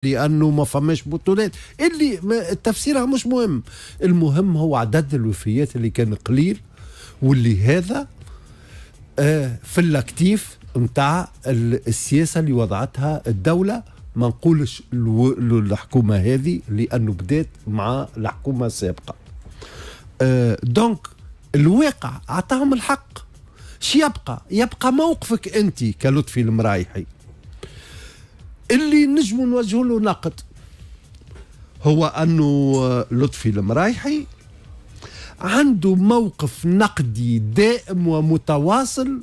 لانه ما فماش بطولات اللي تفسيرها مش مهم. المهم هو عدد الوفيات اللي كان قليل، واللي هذا في ال actif نتاع السياسة اللي وضعتها الدوله. ما نقولش الحكومة هذه لانه بدات مع الحكومة السابقه. donc الواقع اعطاهم الحق. شي يبقى موقفك انت كلطفي المرايحي اللي نجموا نوجهوا له نقد، هو انه لطفي المرايحي عنده موقف نقدي دائم ومتواصل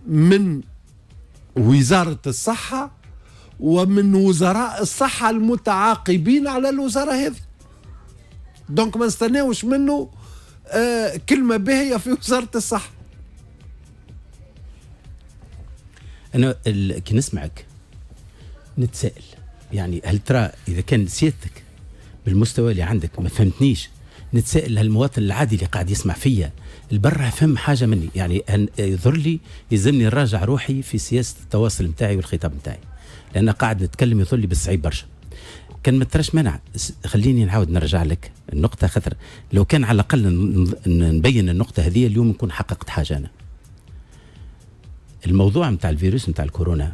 من وزارة الصحة ومن وزراء الصحة المتعاقبين على الوزارة هذه. donc ما نستناوش منه كلمة باهية في وزارة الصحة. أنا كي نسمعك نتساءل، يعني هل ترى إذا كان سيادتك بالمستوى اللي عندك ما فهمتنيش، نتساءل هالمواطن العادي اللي قاعد يسمع فيا البرة فهم حاجة مني؟ يعني يظهر لي يلزمني نراجع روحي في سياسة التواصل نتاعي والخطاب نتاعي، لأن قاعد نتكلم يظهر لي بالصعيب برشا. كان ما تراش مانع خليني نعاود نرجع لك النقطة، خاطر لو كان على الأقل نبين النقطة هذه اليوم نكون حققت حاجة. أنا الموضوع نتاع الفيروس نتاع الكورونا،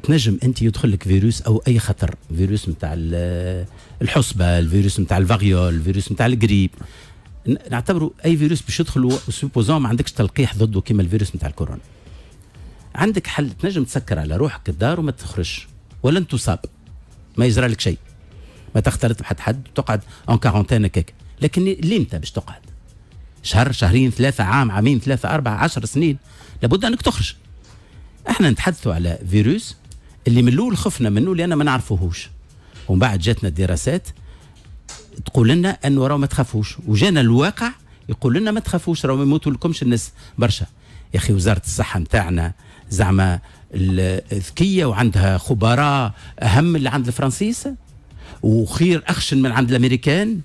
تنجم انت يدخل لك فيروس او اي خطر، فيروس نتاع الحصبه، الفيروس نتاع ال variole، الفيروس نتاع الجريب، نعتبره اي فيروس باش يدخل supposons ما عندكش تلقيح ضده كيما الفيروس نتاع الكورونا. عندك حل، تنجم تسكر على روحك الدار وما تخرجش ولن تصاب، ما يجرى لك شيء، ما تختلط بحد حد، تقعد en quarantaine هكاك. لكن ليمتى باش تقعد؟ شهر، شهرين، 3، عام، عامين، 3، 4، 10 سنين، لابد انك تخرج. احنا نتحدثوا على فيروس اللي من الاول خفنا منه لان ما نعرفوهوش، ومن بعد جاتنا الدراسات تقول لنا انه راهو ما تخافوش، وجانا الواقع يقول لنا ما تخافوش راهو ما يموتوا لكمش الناس برشا. يا اخي وزارة الصحة نتاعنا زعما ذكية وعندها خبراء اهم اللي عند الفرنسيس، وخير اخشن من عند الامريكان،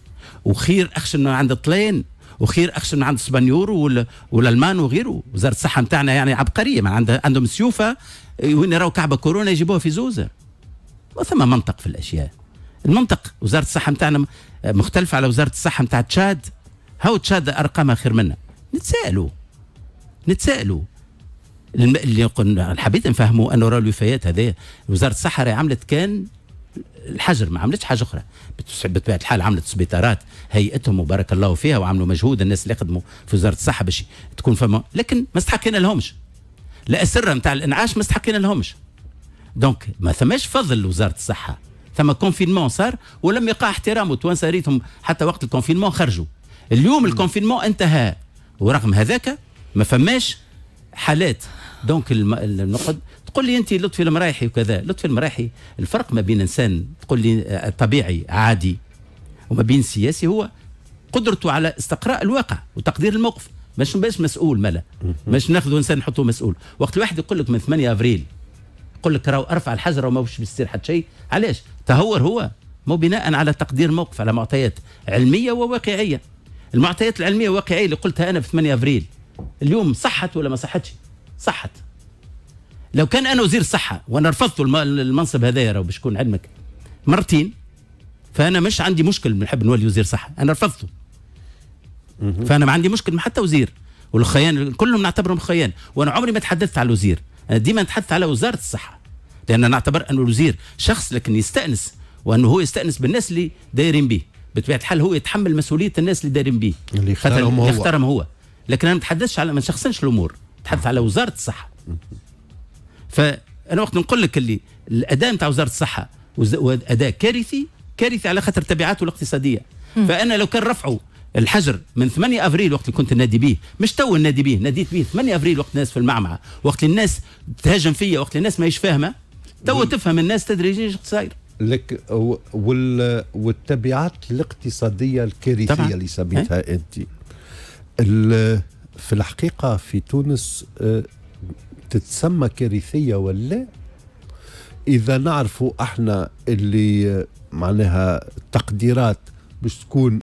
وخير اخشن من عند الطلين، وخير اخشن من عند الاسبانيور والالمان وغيره. وزارة الصحة نتاعنا يعني عبقريه، ما عندهم سيوفه وين يراو كعبه كورونا يجيبوها في زوزه. وثم منطق في الاشياء. المنطق وزارة الصحة نتاعنا مختلفة على وزارة الصحة نتاع تشاد، هاو تشاد ارقامها خير منا. نتسائلوا اللي قلنا حبيت نفهموا انه راه الوفيات هذه وزارة الصحة راهي عملت كان الحجر، ما عملتش حاجة اخرى. بطبيعة الحال عملت سبيطارات هيئتهم وبارك الله فيها، وعملوا مجهود الناس اللي خدموا في وزارة الصحة باش تكون فما، لكن ما استحقينا لهمش لا السرة نتاع الانعاش، ما استحقينا لهمش. donc ما ثماش فضل لوزارة الصحة، ثم confinement صار ولم يقع احترامه. التوانسة ريتهم حتى وقت ال confinement خرجوا. اليوم ال confinement انتهى، ورغم هذاك ما فماش حالات. donc النقد تقول لي انت لطفي المرايحي وكذا، لطفي المرايحي الفرق ما بين انسان تقول لي طبيعي عادي وما بين سياسي هو قدرته على استقراء الواقع وتقدير الموقف. مش باش مسؤول ملا، مش ناخذ انسان نحطه مسؤول. وقت الواحد يقول لك من 8 افريل يقول لك راهو ارفع الحجر وما باش يصير حتى شيء، علاش؟ تهور هو مو بناء على تقدير موقف، على معطيات علمية وواقعيه. المعطيات العلمية والواقعيه اللي قلتها انا في 8 افريل اليوم صحت ولا ما صحتش؟ صحت. لو كان انا وزير الصحة وانا رفضت المنصب هذايا راهو باش يكون علمك مرتين، فانا مش عندي مشكل نحب نولي وزير صحة، انا رفضته. فانا ما عندي مشكل مع حتى وزير، والخيان كلهم نعتبرهم خيان، وانا عمري ما تحدثت على الوزير، انا ديما نتحدث على وزارة الصحة، لان نعتبر انه الوزير شخص لكن يستانس، وانه هو يستانس بالناس اللي دايرين به. بطبيعة الحال هو يتحمل مسؤولية الناس اللي دايرين به، اللي اختارهم هو، اختارهم هو. لكن انا ما نتحدثش على، ما نشخصنش الامور، نتحدث على وزارة الصحة. فانا وقت نقول لك اللي الاداء نتاع وزارة الصحة اداء كارثي، كارثي على خاطر تبعاته الاقتصادية. فانا لو كان رفعوا الحجر من 8 افريل وقت اللي كنت نادي به، مش تو النادي به، ناديت به 8 افريل وقت الناس في المعمعة، وقت الناس تهاجم فيا، وقت الناس ماهيش فاهمه، تو تفهم الناس تدريجيا ايش صاير لك. والتبعات الاقتصادية الكارثية اللي سميتها انت في الحقيقة في تونس تتسمى كارثية ولا؟ اذا نعرفوا احنا اللي معناها تقديرات باش تكون